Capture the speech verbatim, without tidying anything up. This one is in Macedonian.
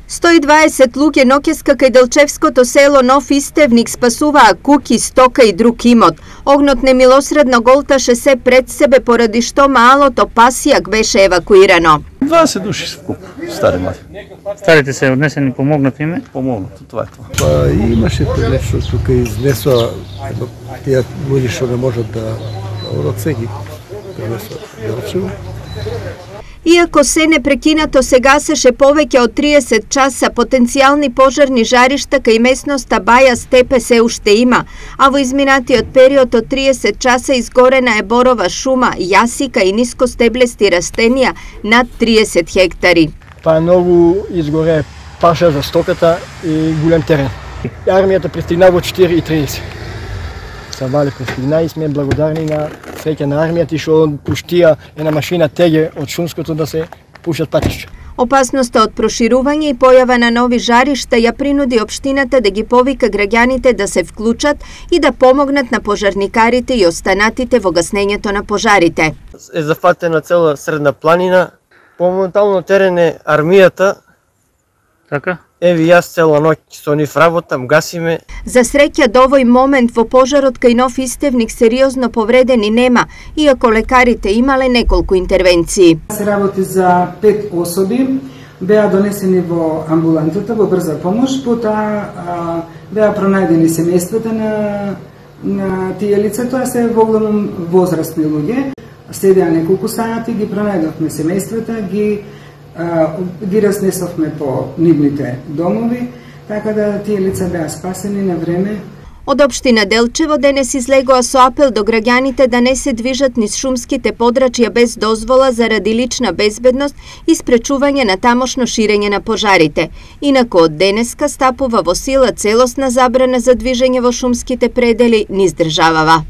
сто и дваесет луѓе ноќеска кај Делчевското село Нов Истевник спасуваа куќи, стока и друг имот. Огнот немилосредно голташе се пред себе, поради што малото пасијак беше евакуирано. дваесет души вкуп, стари млади. Старите се однесени, помогнат име? Помогнат, тоа е тоа. Па имаше нешто тука изнесоа тие луѓе што не можат да од сега пренесоа Делчево. Иако се непрекинато се гасеше повеќе од триесет часа, потенцијални пожарни жаришта кај местноста Баја Степе се уште има, а во изминатиот период од триесет часа изгорена е борова шума, јасика и нискостеблести растенија над триесет хектари. Па ново изгоре паша за стоката и голем терен. Армијата пристигна во четири и тридесет. Савале пристигна и сме благодарни на среќа на армијата што пуштија една машина теге од шумското да се пушат патишта. Опасноста од проширување и појава на нови жаришта ја принуди општината да ги повика граѓаните да се вклучат и да помогнат на пожарникарите и останатите во гаснењето на пожарите. Е зафатена цела средна планина. По моментално терен е армијата. Така? Еви јас цела ноќ со нив работам, гасиме. За среќа до овој момент во пожарот кај Нов Истевник сериозно повредени нема, иако лекарите имале неколку интервенции. Се работи за пет особи, беа донесени во амбулантата во брза помош, потоа беа пронајдени семејствата на, на тие лица, тоа се воглавном возрастни луѓе. Следеа неколку сати, ги пронајдовме семејствата, ги ги разнесовме по нивните домови, така да тие лица беа спасени на време. Од општина Делчево денес излегоа со апел до граѓаните да не се движат низ шумските подрачја без дозвола заради лична безбедност и спречување на тамошно ширење на пожарите. Инаку од денеска стапува во сила целосна забрана за движење во шумските предели низ државава.